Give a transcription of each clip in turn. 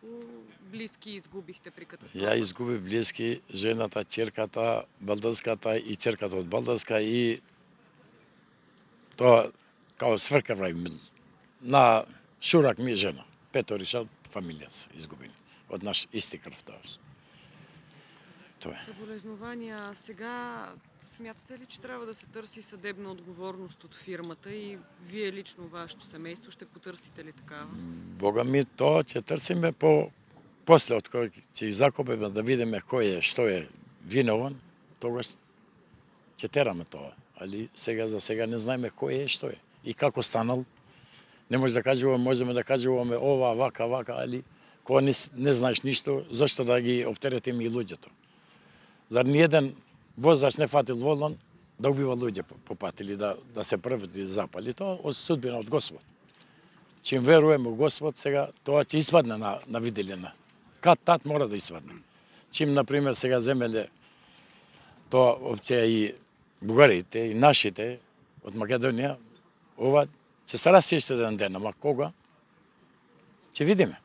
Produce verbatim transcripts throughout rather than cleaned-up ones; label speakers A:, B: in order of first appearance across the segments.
A: Колку блиски изгубихте при катастрофата?
B: Ја изгубив блиски, жената, ќерката, балданската и ќерката од балданска и тоа као сврка врај на шурак ми жена. Петориша од фамилија се изгубени. Од наш исти крв тоа. Тоа е.
A: Соболезнувања. Сега смятате ли, че треба да се търси съдебна отговорност од фирмата и вие лично, вашето семејство, ще потърсите ли такава?
B: Бога ми, тоа ќе търсиме по после од кој ќе закопиме да видиме кој е, што е винован, тогаш ќе тераме тоа. Али сега за сега не знаеме кој е, што е и како станал. Не може да кажуваме, можеме да кажуваме ова, вака, вака, али кога не, не знаеш ништо, зашто да ги оптеретиме и луѓето? Зар ни еден возач не фатил волан да убива луѓе по пат или да, да се првати запали? Тоа од судбина од Господ. Чим веруваме у Господ, сега тоа ќе испадне на, на виделина. Кад тат мора да испадне. Чим, например, сега земеле тоа опција и бугарите, и нашите од Македонија, ова ќе се расчисти еден ден, ама кога? Ќе видиме.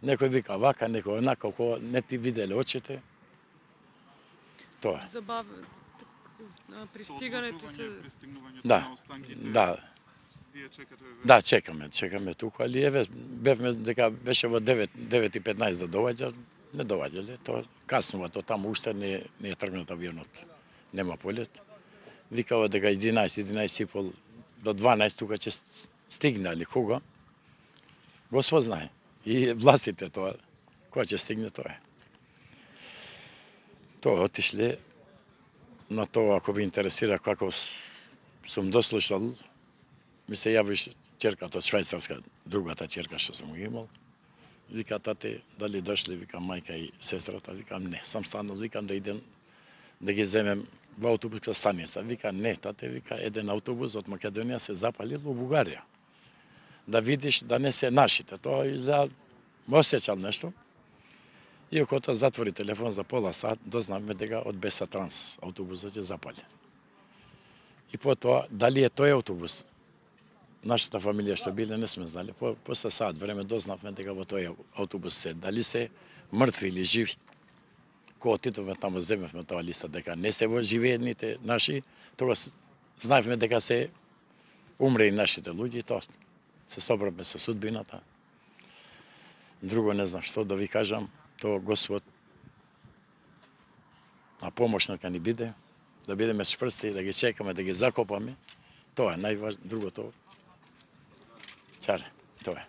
B: Некој вика вака, некој онака, кога не ти виделе очите. Тоа.
A: Забавно. Пристигането се...
B: Да, да. Да, чекаме, чекаме тука, али еве бевме дека беше во девет и петнаесет да доаѓа, не доаѓале, тоа каснува, тоа таму уште не, не е тргнат авионот. Нема полет. Викава дека единаесет, единаесет и пол до дванаесет тука ќе стигне, али кога? Господ знае. И властите тоа, кога ќе стигне тоа е. Тоа отишле на тоа, ако ви интересира како сум дослушал, ми се јави ќерката од Швајцарска, другата ќерка што сум ги имал. Вика, тате, дали дошле, вика, мајка и сестрата, викам, не, сам станал, викам да идем да ги земем во автобуска станица. Вика, не, тате, вика, еден автобус од Македонија се запалил во Бугарија. Да видиш, да не се нашите. Тоа изгледа, ме осеќал нешто. И ако тоа затвори телефон за пола сат, дознавме дека од Беса Транс автобусот е запали. И потоа, дали е тој автобус, нашата фамилија што биле, не сме знали. По, после сат време дознавме дека во тој автобус се, дали се мртви или живи. Кога отидовме таму, земевме тоа листа дека не се во живеените наши, тогаш знаевме дека се умре и нашите луѓе и тоа се собравме со судбината. Друго не знам што да ви кажам, тоа Господ на помош нека ни биде, да бидеме чврсти, да ги чекаме, да ги закопаме. Тоа е најважно, другото чаре, тоа е.